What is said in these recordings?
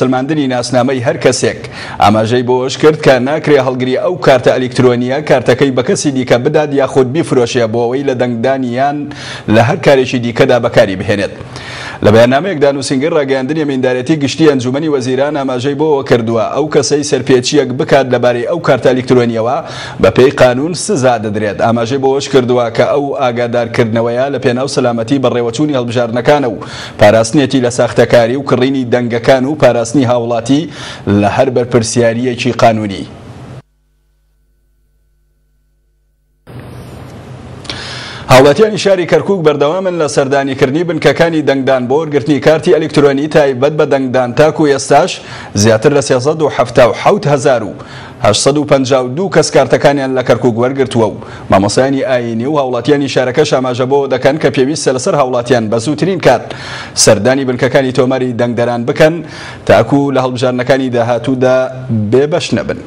سەلماندنی ناسنامەی هەر کەسێک. ئاماژەی بەوەشکرد کە ناکرێ هەڵگری ئەو کارتە ئەلیکترۆنییە کارتەکەی بە کەسی دیکە بدات یاخود بیفرۆشێ بۆ ئەوەی لە دەنگدان یان لە هەر کارێکی دیکەدا بەکاری بهێنێت. لە بەیاننامەیەکدا نووسینگەی ڕاگەیاندنی ئەمیندارێتی گشتی ئەنجوومەنی وەزیران ئاماژەی بەوە کردووە، ئەو کەسەی سەرپێچییەک بکات لەبارەی ئەو کارتە ئەلیکترۆنییەوە بەپێی قانوون سزا دەدرێت. ئاماژەی بەوەش کردووە کە ئەو ئاگادارکردنەوەیە لەپێناو سەلامەتی بەڕێوەچوونی هەڵبژاردنەکانە و پاراستنێتی لە ساختەکاری و کڕینی دەنگەکان و پاراستنی هاوڵاتی لە هەر بەرپرسیارییەکی قانوونی. هاوڵاتیانی شاری کەرکوک بەردەوامن لە سەردانیکردنی بنکەکانی دەنگدان بۆ وەرگرتنی کارتی ئەلیکترۆنی تایبەت بە دەنگدان تاکو ئێستاش زیاتر لە 377,852 کەس کارتەکانیان لە کەرکوک وەرگرتووە و مامۆستایانی ئایینی و هاوڵاتیانی شارەکەش ئاماژە بەوە دەکەن کە پێویستە لەسەر هاوڵاتیان بە زووترین کات سەردانی بنکەکانی تۆماری دەنگدەران بکەن تاکو لە هەڵبژاردنەکانی داهاتوودا بێبەش نەبن.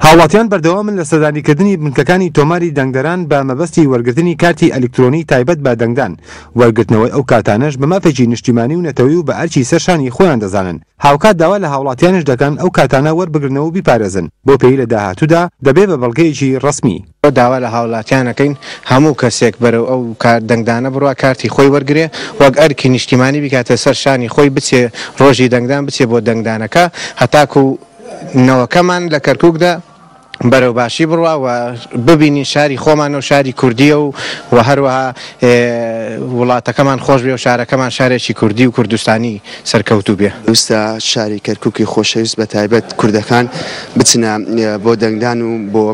هاوڵاتیان بەردەوامن لە سەردانیکردنی بنکەکانی تۆماری دەنگدەران بە مەبەستی وەرگرتنی کارتی ئەلیکترۆنی تایبەت بە دەنگدان، وەرگرتنەوەی ئەو کارتانەش بە مافێکی نیشتیمانی و نەتەوەی و بە ئەرکی سەر شانی خۆیان دەزانن، هاوکات داوا لە هاوڵاتیانیش دەکەن ئەو کارتانە وەربگرنەوە و بیپارێزن بۆ پێی لە داهاتوودا دەبێ بە بەڵگەیەکی ڕەسمی. داوا لە هاوڵاتیان ئەکەین هەموو کەسێک بەرەو ئەو دەنگدانە بڕوا کارتی خۆی وەرگرێ وەک ئەرکی نیشتیمانی بیکاتە سەر شانی خۆی بچێ ڕۆژی دەنگدان بچێ بۆ دەنگدانەکە هەتاکو نەوەکەمان لە کەرکوکدا بەرەو باشی بڕوا و ببینین شاری خۆمانە و شاری کوردیە و و هەروەها وڵاتەکەمان خۆش بێ و شارەکەمان شارێکی کوردی و کوردستانی سەرکەوتوو بێ. پێویستە شاری کەرکوکی خۆشەویست بە تایبەت کوردەکان بچنە بۆ دەنگدان و بۆ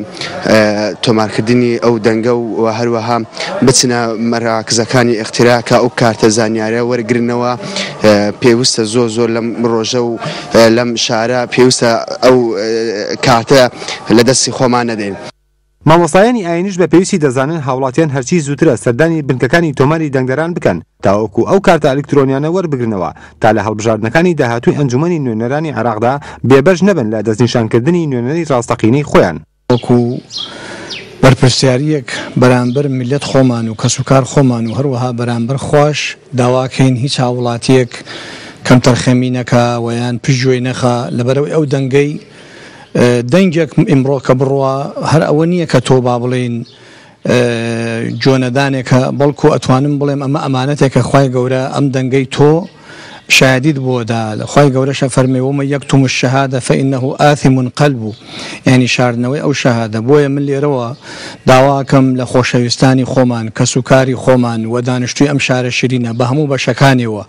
تۆمارکردنی ئەو دەنگە و هەروەها بچنە مەراکزەکانی ئیقتراع کە ئەو کارتە زانیارە وەرگرنەوە پێویستە زۆر زۆر لەم ڕۆژە و لەم شارە پێویستە ئەو کارتە لە دەستی خۆمان نەدەین. مامۆستایانی ئاینیش بە پێویستی دەزانن هاوڵاتیان هەرچی زووترە سەردانی بنکەکانی تۆماری دەنگدەران بکەن تاوەکو ئەو کارتە ئەلیکترۆنیانە وەربگرنەوە تا لە هەڵبژاردنەکانی داهاتووی ئەنجومەنی نوێنەرانی عێراقدا بێبەش نەبن لە دەستنیشانکردنی نوێنەری ڕاستەقینەی خۆیان. وەکو بەرپرسیارییەک بەرامبەر میللەت خۆمان و کەسوکار خۆمان و هەروەها بەرامبەر خواش داواکەین هیچ هاووڵاتییەک کەمتەرخەمی نەکا و یان پشتگوێی نەخا لەبەرئەوەی ئەو دەنگەی دەنگێک ئیمڕۆ کە بڕوا هەر ئەوە نییە کە تۆ با بڵێین جۆنەدانێکە بەڵکو ئەتوانم بڵێم ئەمە ئەمانەتێکە خوای گەورە ئەم دەنگەی تۆ شایەدیت بۆ دا خوای گەورەش ئەفەرمێ ومن یکتم الشهادە فانه آثم قلبه یانی شاردنەوەی ئەو شەهادە بۆیە من لێرەوە داواکەم لە خۆشەویستانی خۆمان کەسوکاری خۆمان و دانیشتوی ئەم شارە شیرینە بە هەموو بەشەکانیەوە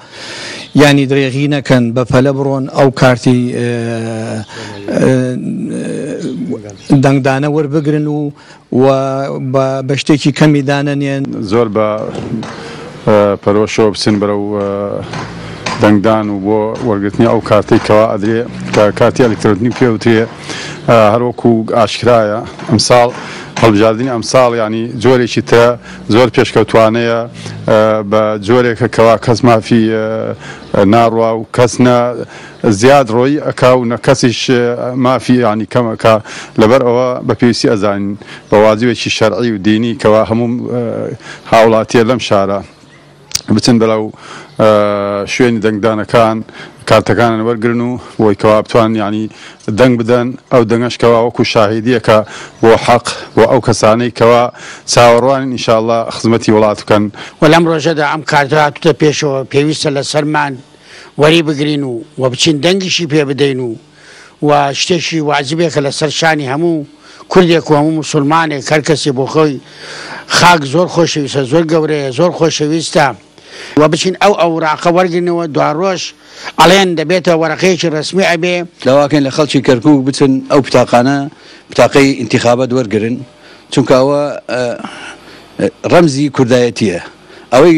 یانی درێغی نەکەن بە پەلە بڕۆن ئەو کارتی دەنگدانە وەربگرن و و بە شتێکی کەمی دانەنێن. زۆر بە پەرۆشەوە بچن بەرەو دەنگدان و بۆ وەرگرتنی ئەو کارتەی کەوا ئەدرێ کە کارتی ئەلکترۆنی پێ وترێ هەروەکو ئاشکرایە ئەمساڵ هەڵبژاردنی ئەمساڵ یانی جۆرێکی ترە زۆر پێشکەوتوانەیە بە جۆرێکە کەوا کەس مافی ناڕوا و کەس نە زیاد ڕۆیی ئەکا و نە کەسیش مافی یانی کەم ئەکا لەبەر ئەوە بە پێویستی ئەزانین بە واجبێکی شەرعی و دینی کەوا هەموو هاوڵاتیە لەم شارە بچن بەرەو شوێنی دەنگدانەکان کارتەکانیان وەرگرن و بۆی کەوا بتوان یانی دەنگ بدەن ئەو دەنگەش کەوا وەکو شاهیدیەکە بۆ حەق بۆ ئەو کەسانەی کەوا چاوەڕوانین ئینشاءاللە خزمەتی وڵات بکەن. وە لەم ڕۆژەدا ئەم کارتە هاتوتە پێشەوە پێویستە لەسەرمان وەری بگرین و وە بچین دەنگیشی پێ بدەین و وە شتێکی واجبێکە لەسەر شانی هەموو کوردێک و هەموو موسوڵمانێک هەر کەسێ بۆ خۆی خاک زۆر خۆشەویستە زۆر گەورەیە زۆر خۆشەویستە وە بچین ئەو ئەوراقە وەرگرنەوە دواڕۆژ ئەڵێن دەبێتە وەرەقەیەکی ڕەسمی ئەبێ. داواکەین لە خەڵکی کەرکوک بچن ئەو بتاقانە بتاقەی ئینتیخابات وەرگرن چونکە ئەوە ڕەمزی کوردایەتیە ئەوەی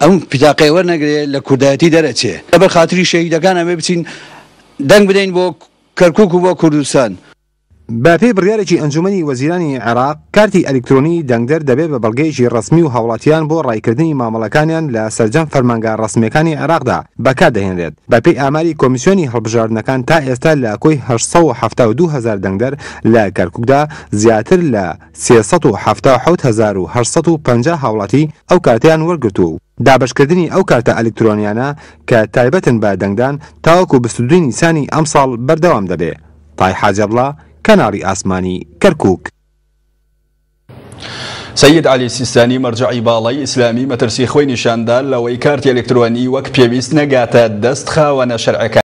ئەم بتاقەیە وەرنەگرێ لە کوردایەتی دەرئەچێ. لەبەر خاتری شەهیدەکان ئەبێ بچین دەنگ بدەین بۆ کەرکوک و بۆ کوردستان. بەپێی بڕیارێکی ئەنجومەنی وەزیرانی عێراق، کارتی ئەلیکترۆنیی دەنگدەر دەبێت بە بەڵگەیەکی ڕەسمی و هاوڵاتیان بۆ ڕایکردنی مامەڵەکانیان لە سەرجەم فەرمانگە ڕەسمییەکانی عێراقدا بەکاردەهێنرێت. بەپێی ئاماری کۆمیسیۆنی هەڵبژاردنەکان تا ئێستا لە کۆی 872 هەزار دەنگدەر لە کەرکوکدا زیاتر لە 377,850 هاوڵاتی ئەو کارتەیان وەرگرتووە و دابەشکردنی ئەو کارتە ئەلیکترۆنیانە کە تایبەتن بە دەنگدان تاوەکو 22 نیسانی ئەمساڵ بەردەوام دەبێ. تای حاجی عەبدوڵا، کەناڵی ئاسمانی، کەرکوک. سەید عەلی سیستانی مەرجەعی باڵای ئیسلامی مەترسی خۆی نیشاندا لەوەی کارتی ئەلکترۆنی وەک پێویست نەگاتە دەست خاوەنە شەرعەکانی.